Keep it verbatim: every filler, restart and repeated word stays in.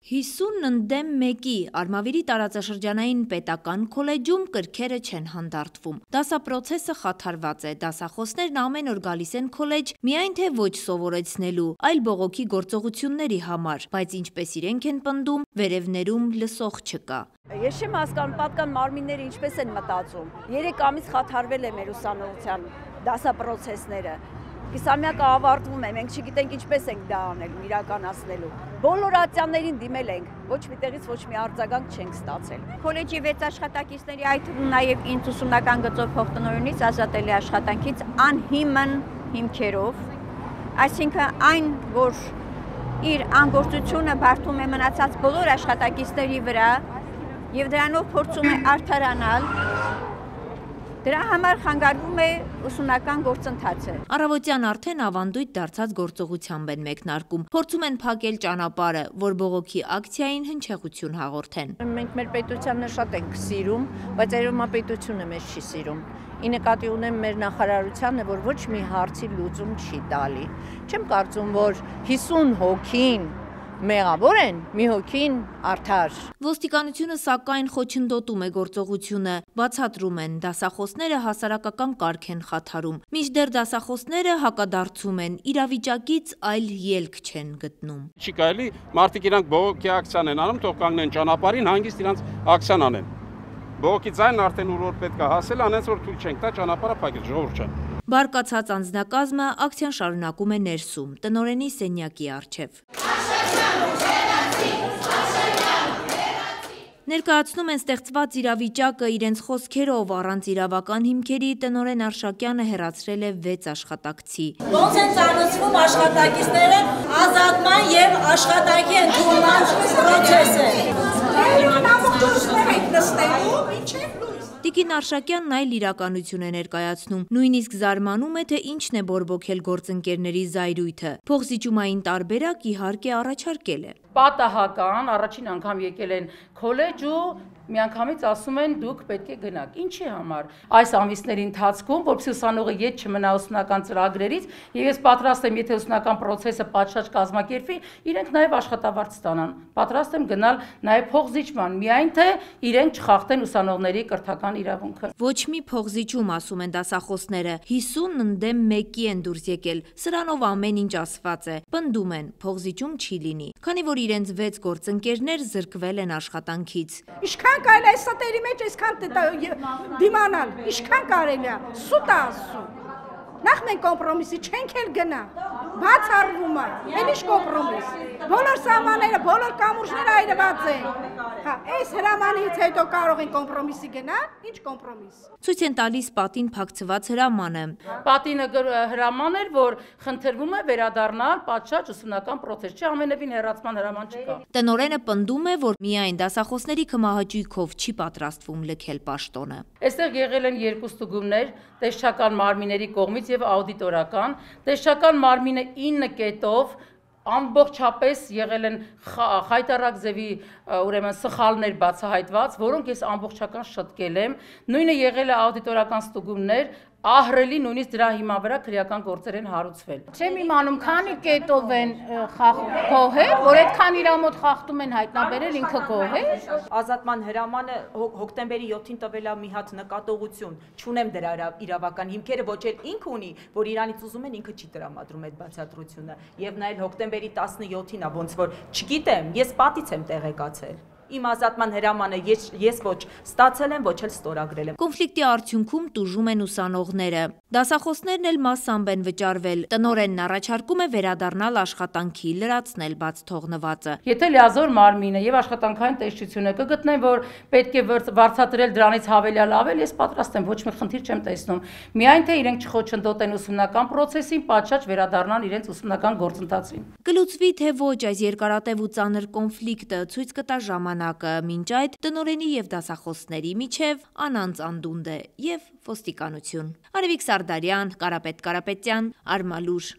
հիսուն ընդդեմ մեկի Արմավիրի տարածաշրջանային պետական քոլեջում կրքերը չեն հանդարտվում։ Դասապրոցեսը խաթարված է, դասախոսներն ամեն օր գալիս են քոլեջ միայն թե ոչ սովորեցնելու, այլ բողոքի գործողությունների համար, բայց ինչպես իրենք են պնդում, վերևներում լսող չկա։ Ես չեմ հասկանում, պատկան մարմինները ինչպես են մտածում։ Երեք ամիս խաթարվել է մեր ուսանողության դասապրոցեսները։ Կիսամյակը ավարտվում է, մենք չգիտենք ինչպես ենք դա անելու, իրականացնելու։ Բոլոր ատյաններին դիմել ենք, ոչ մի տեղից ոչ մի արձագանք չենք ստացել։ Քոլեջի վեց աշխատակիցների, այդ թվում նաև ինձ ուսումնական գծով փոխտնօրինից ազատելի աշխատանքից անհիմն հիմքերով, այսինքն այն, որ իր անգործությունը բարդում է մնացած բոլոր աշխատակիցների վրա եւ դրանով փորձում է արդարանալ, դրա համար խանգարվում է ուսումնական գործընթացը։ Առավոտյան արդեն ավանդույթ դարձած գործողությամբ են մեկնարկում, փորձում են փակել ճանապարհը, որ բողոքի ակցիային հնչեղություն հաղորդեն։ Մենք մեր պետությանը շատ ենք սիրում, բայց Երևանապետությունը մեզ չի սիրում։ Ի նկատի ունեմ մեր նախարարությանը, որ ոչ մի հարցի լուծում չի տալի։ Չեմ կարծում, որ հիսուն հոգին մեղավոր են, մի հոգին արդար։ Ոստիկանությունը սակայն խոչընդոտում է գործողությունը, բացատրում են, դասախոսները հասարակական կարգ են խաթարում, մինչդեռ դասախոսները հակադարձում են, իրավիճակից այլ ելք չեն գտնում։ Չի կարելի, մարդիկ իրանք բողոքի ակցիան են անում, թող կանգնեն ճանապարհին, հանգիստ իրանք ակցիան անեն։ Բողոքի ձայնն արդեն ուր որ պետք է հասել, անենց որ թույլ չենք տա ճանապարհը փակել, ժողովուրդ ջան։ Բարկացած անձնակազմը ակցիան շարունակում է ներսում, տնօրենի սենյակի առջև։ Ներկայացնում են ստեղծված իրավիճակը իրենց խոսքերով, առանց իրավական հիմքերի տնօրեն Արշակյանը հեռացրել է վեց աշխատակցի։ Ոնց են ծանոթվում աշխատակիցները ազատման եւ աշխատանքի ընդունման պրոցեսը։ Տիկին Արշակյանն այլ իրականություն է ներկայացնում, նույնիսկ զարմանում է, թե ինչն է բորբոքել գործընկերների զայրույթը։ Փոխզիջումային տարբերակ իհարկե առաջարկել է։ Պատահական առաջին անգամ եկել են քոլեջ ու միանգամից ասում են դուք պետք է գնաք։ Ինչի համար։ Այս ամիսների ընթացքում, որպեսզի ուսանողը ետ չմնա ուսումնական ծրագրերից, եւ ես պատրաստ եմ, եթե ուսումնական process-ը պատշաճ կազմակերպվի, իրենք նաեւ աշխատավարձ ստանան։ Պատրաստ եմ գնալ նաեւ փոխզիջման, միայն թե իրենք չխախտեն ուսանողների կրթական իրավունքը։ Ոչ մի փոխզիջում, ասում են դասախոսները, հիսուն ընդդեմ մեկի են դուրս եկել։ Սրանով ամեն ինչ ասված է։ Պնդում են, փոխզիջում չի լինի, քանի որ իրենց վեց գործընկերներ զրկվել են աշխատանքից։ Ինչքան կարելի է այս ստերի մեջ այսքան դիմանալ, ինչքան կարելի է, սուտ է ասում։ Նախ մենք կոմպրոմիսի չենք էլ գնա, բաց արվում է, էլ ինչ կոմպրոմիս։ Բոլոր սահմանները, բոլոր կամուրջները այրված են։ Հա, այս հրամանից հետո կարող են կոմպրոմիսի գնալ, ինչ կոմպրոմիս։ Ցույց են տալիս պատին փակցված հրամանը։ Պատինը հրաման էր, որ խնդրվում է վերադառնալ պատշաճ ուսումնական process, չի ամենևին հեռացման հրաման չկա։ Տնօրենը պնդում է, որ միայն դասախոսների կմահաճույքով չի պատրաստվում լքել պաշտոնը։ Այստեղ եղել են երկու ստուգումներ, տեսչական մարմինների կողմից եւ աուդիտորական, տեսչական մարմինը ինը կետով ամբողջապես եղել են խայտարակ ձևի ուրեմն սխալներ բացահայտված, որոնք ես ամբողջական շտկել եմ, նույնը եղել է աուդիտորական ստուգումներ, ահռելի նույնիսկ դրա հիման վրա քրեական գործեր են հարուցվել։ Չեմ իմանում, քանի կետով են գոհել, որ այդքան իր մոտ խախտում են հայտնաբերել, ինքը գոհել։ Ազատման հրամանը հոկտեմբերի յոթին տվել է մի հատ նկատողություն, չունեմ դրա իրավական հիմքերը, ոչ էլ ինքը ունի, որ իրանից ուզում են, ինքը չի տրամադրում այդ բացատրությունը, եւ նա էլ հոկտեմբերի տասնյոթին է, ոնց որ չգիտեմ, ես պատից եմ տեղեկացել։ Իմ ազատման հրամանը ես, ես ոչ ստացել եմ, ոչ էլ ստորագրել եմ։ Կոնֆլիկտի արդյունքում տուժում են ուսանողները։ Դասախոսներն էլ մասամբ են վճարվել։ Տնօրենն առաջարկում է վերադառնալ աշխատանքի, լրացնել բաց թողնվածը։ Եթե լիազոր մարմինը եւ աշխատանքային տեսչությունը կգտնեն, որ պետք է վարձատրել դրանից հավելյալ ավել, ես պատրաստ եմ, ոչ մի խնդիր չեմ տեսնում։ Միայն թե իրենք չխոչընդոտեն ուսումնական process-ին, պատշաճ վերադառնան իրենց ուսումնական գործընթացին։ Կլուծվի թե ոչ այս երկարատև ու ծանր կոնֆլիկտը ցույց կտա ժամանակը, մինչ այդ տնօրենի եւ դասախոսների միջև անանց անդունդ է եւ ոստիկանություն։ Արևիկ Սարդարյան, Կարապետ Կարապետյան, Արմալուր։